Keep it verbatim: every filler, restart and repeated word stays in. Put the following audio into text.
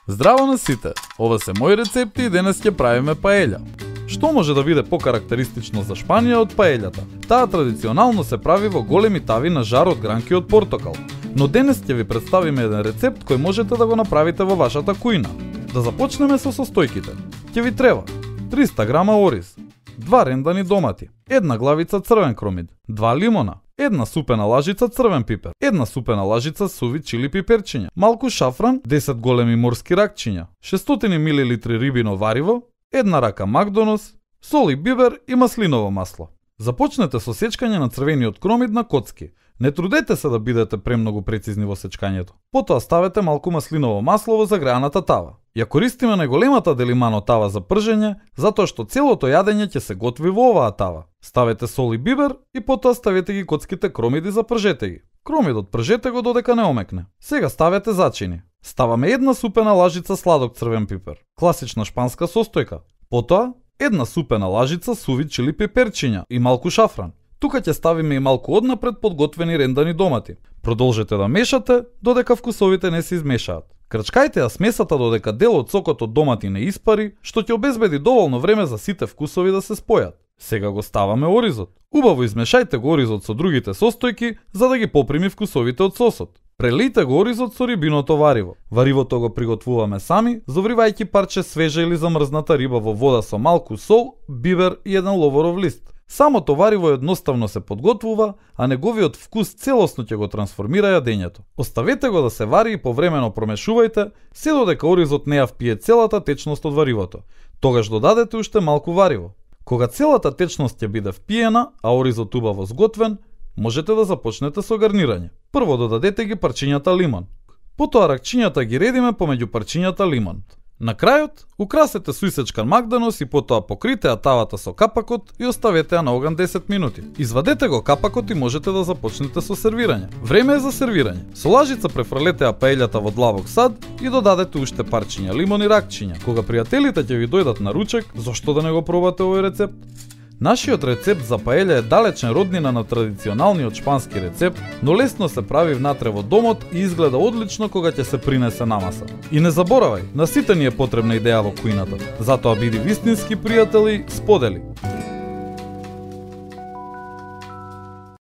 Здраво на сите! Ова се мои рецепти и денес ќе правиме паелја. Што може да биде покарактеристично за Шпанија од паелјата? Таа традиционално се прави во големи тави на жар од гранки од портокал. Но денес ќе ви представиме еден рецепт кој можете да го направите во вашата кујна. Да започнеме со состојките. Ќе ви треба триста грама ориз, два рендани домати, една главица црвен кромид, два лимона, една супена лажица црвен пипер, една супена лажица суви чили пиперчиња, малку шафран, десет големи морски ракчиња, шестстотини милилитри рибино вариво, една рака макдонос, сол и бибер и маслиново масло. Започнете со сечкање на црвениот кромид на коцки. Не трудете се да бидете премногу прецизни во сечкањето. Потоа ставете малку маслиново масло во загреаната тава. Ја користиме најголемата делимано тава за пржење, затоа што целото јадење ќе се готви во оваа тава. Ставете сол и бибер и потоа ставете ги коцките кромиди за пржете ги. Кромидот пржете го додека не омекне. Сега ставете зачини. Ставаме една супена лажица сладок црвен пипер, класична шпанска состојка. Потоа една супена лажица суви чили пиперчиња и малку шафран. Тука ќе ставиме и малку однапред подготвени рендани домати. Продолжете да мешате додека вкусовите не се измешаат. Крчкајте ја смесата додека дел од сокот од домати не испари, што ќе обезбеди доволно време за сите вкусови да се спојат. Сега го ставаме оризот. Убаво измешајте го оризот со другите состојки за да ги поприми вкусовите од сосот. Прелијте го оризот со рибиното вариво. Варивото го приготвуваме сами, завривајќи парче свежа или замрзната риба во вода со малку сол, бибер и еден ловоров лист. Самото вариво едноставно се подготвува, а неговиот вкус целосно ќе го трансформира јадењето. Оставете го да се вари и повремено промешувајте, се додека оризот не ја впие целата течност од варивото. Тогаш додадете уште малку вариво. Кога целата течност ќе биде впиена, а оризот убаво сготвен, можете да започнете со гарнирање. Прво додадете ги парчињата лимон. Потоа ракчињата ги редиме помеѓу парчињата лимон. На крајот, украсете со исечкан макдонос и потоа покрите ја тавата со капакот и оставете ја на оган десет минути. Извадете го капакот и можете да започнете со сервирање. Време е за сервирање. Со лажица префрлете ја паелјата во длабок сад и додадете уште парчиња лимон и ракчиња. Кога пријателите ќе ви дојдат на ручек, зошто да не го пробате овој рецепт? Нашиот рецепт за паелја е далечен роднина на традиционалниот шпански рецепт, но лесно се прави внатре во домот и изгледа одлично кога ќе се принесе на маса. И не заборавај, на сите ни е потребна идеја во кујната. Затоа биди вистински пријател и сподели.